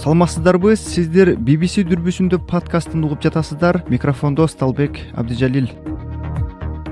Саламатсыздарбы? Сиздер BBC дүрбүсүндө подкастын угуп жатасыздар. Микрофондо Сталбек Абдижалил.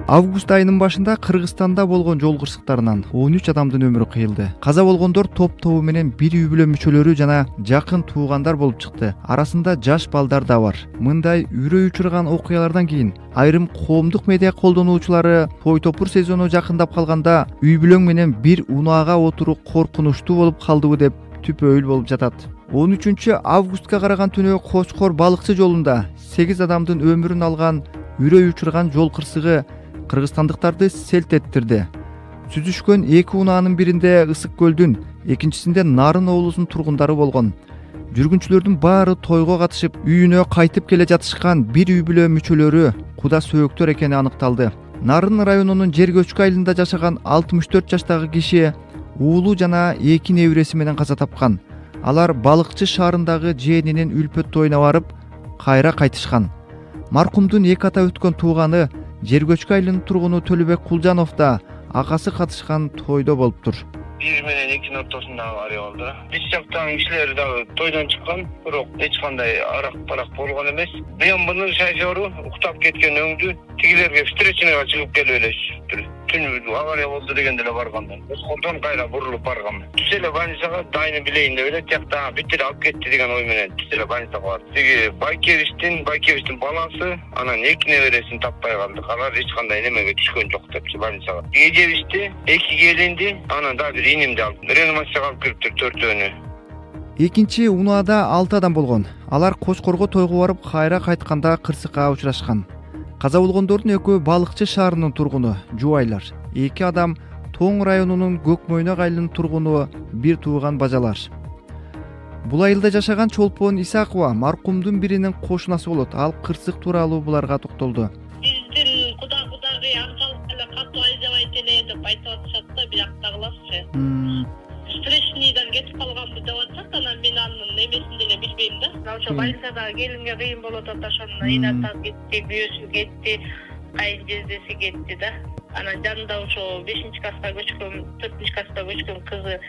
Август айынын башында Кыргызстанда болгон жол кырсыктарынан 13 адамдын өмүрү кыйылды. Каза болгондор топ-тобу менен бир үй бүлө мүчөлөрү жана жакын туугандар болуп чыкты. Арасында жаш балдар да бар. Мындай үрөй учурган окуялардан кийин айрым коомдук медиа колдонуучулары той топур сезону жакындап калганда үй бүлөң менен бир унаага отуруу коркунучтуу болуп калдыбы деп түпөйүл болуп жатат. 13 августка караган түнү Кочкор балыкчы жолунда 8 адамдын өмүрүн алган үрөй учурган жол кырсыгы кыргызстандыктарды селт эттирди. Сүзүшкөн 2 унаанын биринде Ысык көлдүн, экинчисинде Нарын облусунун тургундары болгон. Жүргүнчүлөрдүн баары тойго катышып, үйүнө кайтып келе жатышкан бир үй бүлө мүчөлөрү куда сөөктөр экени аныкталды. Нарын районунун Жергөчкү айылында жашаган 64 жаштагы киши уулу жана 2 небереси менен каза тапкан. Алар Балыкчы шаарындагы жээнинин үлпөт тоюна барып, кайра кайтышкан. Маркумдун 2 ата өткөн тууганы Жергөчкү айылынын тургуну Төлөбек Кулжанов да акасы катышкан тойдо болуптур. 1 менен 2 ортосунда авария болду. Биз жактан кишилер дагы тойдон чыккан, бирок эч кандай арак-барак болгон эмес. БМВнын шофёру уктап кеткен өңдү тигилерге встречныйга чыгып келип эле түн авария болду дегенде эле барганда. Кочкордон кайра бурулуп барган. Түз эле больницага дайыны билейин деп эле тиякта битир алып кетти деген ой менен түз эле больницага барды. Тиги Байкевичтин баласы анан 2 небересин таппай калды. Алар эч кандай немеге түшкөн жок депчи больницага. Эжебишти 2 келинди, анан дагы бир инимди алып реанимацияга алып кириптир 4-өөнү. Экинчи унаада 6 адам болгон. Алар Кочкорго тойго барып кайра кайтканда кырсыкка учурашкан. Каза болгондордун экөө Балыкчы шаарынын тургуну жубайлар. 2 адам Тоң районунун Көкмөйнөк айылынын тургуну бир тууган бажалар. Бул айылда жашаган Чолпон Исакова маркумдун биринин кошунасы болот. Ал кырсык тууралуу буларга токтолду. Биздин кудагы акчалык эле катуу айдабайт эле деп айтып атышат да, бияктагыларчы. Встречныйдан кетип калганбы деп атышат, анан мен анын эмесин деле билбейм да. Ошо больницада келинге кыйын болот атат, ошону инатасы кетти, күйөөсү кетти, кайын жездеси кетти да. Анан жанында ошо 5-класска көчкөн, 4-класска көчкөн кызы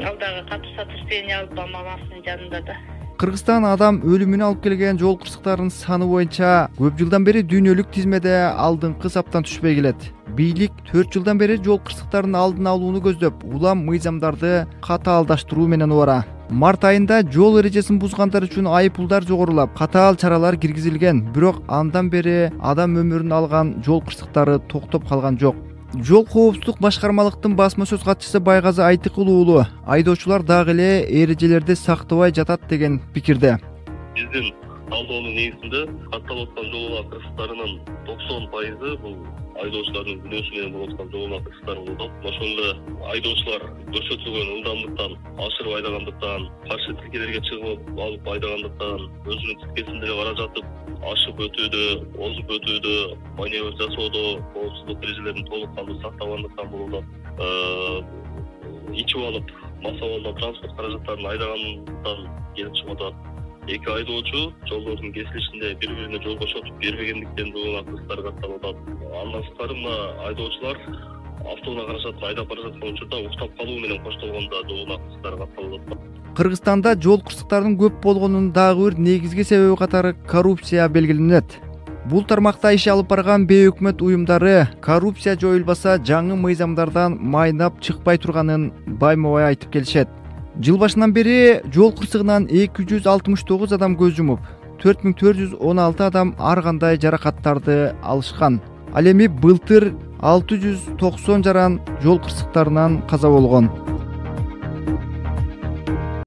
ал дагы катуу сотрясение алып мамасынын жанында да. Кыргызстан адам өлүмүнө алып келген жол кырсыктарынын саны боюнча көп жылдан бери дүйнөлүк тизмеде алдыңкы саптан түшпөй келет. Бийлик 4 жылдан бери жол кырсыктарынын алдын алууну көздөп, улам мыйзамдарды катаалдаштыруу менен убара. Март айында жол эрежесин бузгандар үчүн айыппулдар жогорулап, катаал чаралар киргизилген, бирок андан бери адам өмүрүн алган жол кырсыктары токтоп калган жок. Жол коопсуздук башкармалыктын басма сөз катчысы Байгазы Айтыкул уулу айдоочулар дагы эле эрежелерди сактабай жатат деген пикирде. Биздин талдоонун негизинде катталып аткан жол кырсыктарынын 90% бул айдоочулардын күнөөсү менен болуп аткан жол кырсыктары болот. Ошондо эле айдоочулар көрсөтүлгөн ылдамдыктан ашырып айдагандыктан, каршы тилкелерге чыгып алып айдагандыктан, өзүнүн тилкесинде эле бара жатып ашып өтүүдө, озуп өтүүдө, маневр жасоодо коопсуздук эрежелерин толук кандуу сактабагандыктан болот. Ичип алып, массалуу транспорт каражаттарын айдагандыктан келип чыгып атат. 2 айдоочу жолдордун кесилишинде бири-бирине жол кошотуп бербегендиктен жол кырсыктары катталып атат. Андан сырткары мына айдоочулар автоунаа каражатын айдап бара жаткан учурда уктап калуу менен коштолгондо жол кырсыктары катталып атат. Кыргызстанда жол кырсыктарынын көп болгонунун дагы бир негизги себеби катары коррупция белгиленет. Бул тармакта иш алып барган бейөкмөт уюмдары коррупция жоюлбаса жаңы мыйзамдардан майнап чыкпай турганын байма-бай айтып келишет. Жыл башынан бери жол кырсыгынан 269 адам көз жумуп, 4416 адам ар кандай жаракаттарды алышкан. Ал эми былтыр 690 жаран жол кырсыктарынан каза болгон.